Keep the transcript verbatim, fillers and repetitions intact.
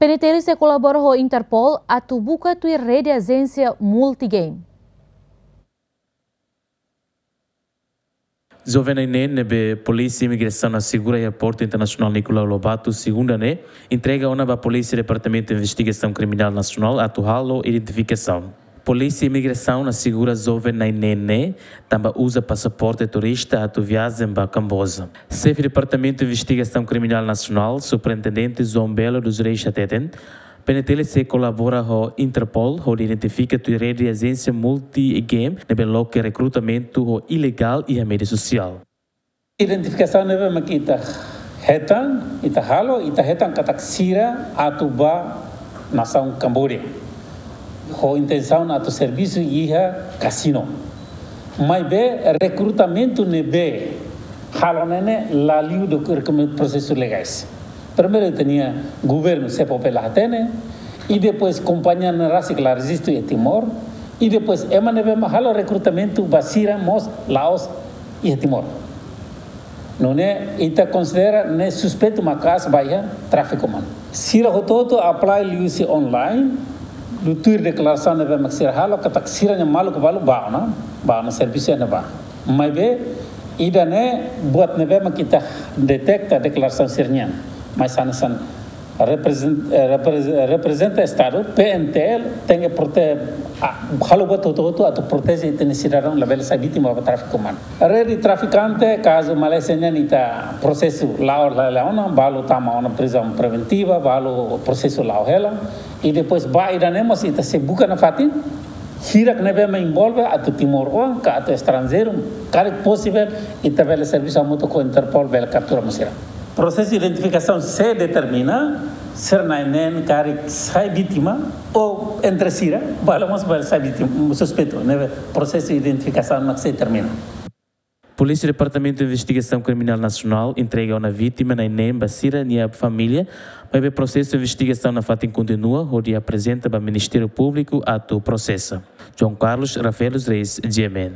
P N T L sei kolabora ho Interpol atu buka tuir rede ajénsia multigame. Joven na'in-neen ne'ebé Polísia Imigrasaun asegura iha Portu Internasionál Nicolau Lobato, segunda ne'e, entrega ona ba Polísia Departamentu Investigasaun Kriminál Nasionál atu halo identifikasaun. Polísia Imigrasaun asegura joven na'in-neen ne'e tanba uza pasaporte turista atu viajen ba Kamboja. Xefe Departamentu Investigasaun Kriminál Nasionál, Superintendente João Belo dos Reis hateten, P N T L sei kolabora ho Interpol hodi identifika tuir rede ajénsia multigame ne'ebé loke rekrutamentu ho ilegál iha média sosiál. Identifikasaun ne'ebé mak ita hetan, ita halo, ita hetan katak sira atu ba nasaun Kamboja ho intensaun atu servisu iha kasinu. Maibé rekrutamentu ne'ebé halo ne'e ne'e la liu ho prosesu legais. Primeiru ita-nia governu SEAPOPL la hatene, i depois kompañia ne'e rasik la rejistu iha Timor, i depois ema ne'ebé mak halo rekrutamentu ba sira mós la'ós iha Timor. Nune'e ita konsidera ne'e suspeitu maka'as ba iha tráfiku umanu. Sira hotu-hotu apply liuhusi online, tuir deklarasaun ne'ebé mak sira halo, katak sira-nia maluk balu ba ona, ba ona servisu iha ne'ebá. Maibé, ida-ne'e buat ne'ebé mak ita deteta deklarasaun sira-nian. Mas hanesan reprezent-, eh, reprez-, reprezenta Estadu, P N T L, tenke prote-, a, halo buat hotu-hotu atu proteje ita-nia sidadaun labele sai vítima ba tráfiku umanu. Rede trafikante, kazu Malázia nian ita prosesu la'o hela ona, balu tama ona prizaun preventiva, balu prosesu la'o hela, i depois ba ida-ne'e mós ita sei buka nafatin, hirak ne'ebé mak envolve atu timoroan ka atu estranjeiru, karik posivel, ita bele servisu hamutuk ho Interpol bele kaptura mós sira. Prosesu identifikasaun sei determina, sira na'in-neen karik sai vítima, ou entre sira, balu mós bele sai vítima, suspeitu, ne'ebé prosesu identifikasaun mak sei termina. Polísia Departamentu Investigasaun Kriminál Nasionál entrega ona vítima na'in-neen ba sira-nia família, maibé prosesu investigasaun nafatin kontinua, hodi aprezenta ba Ministériu Públiku atu prosesa. João Carlos Rafael dos Reis, G M N.